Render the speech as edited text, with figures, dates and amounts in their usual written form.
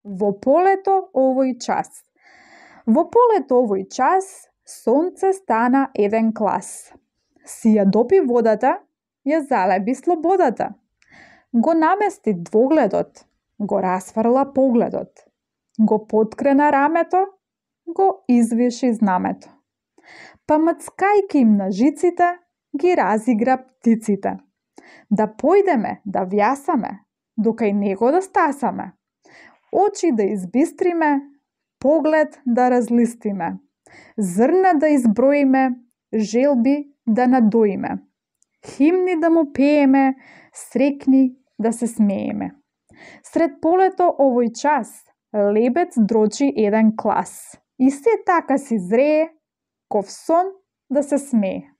Во полето овој час. Во полето овој час, сонце стана еден клас. Си ја допи водата, ја залеби слободата. Го намести двогледот, го расфрла погледот. Го поткрена рамето, го извиши знамето. Па мцкајки им на жиците, ги разигра птиците. Да појдеме, да вјасаме, дока и него да стасаме. Очи да избистриме, поглед да разлистиме. Зрна да изброиме, желби да надоиме. Химни да му пееме, срекни да се смееме. Сред полето овој час, лебец дрочи еден клас. И се така си зрее, ков сон да се смее.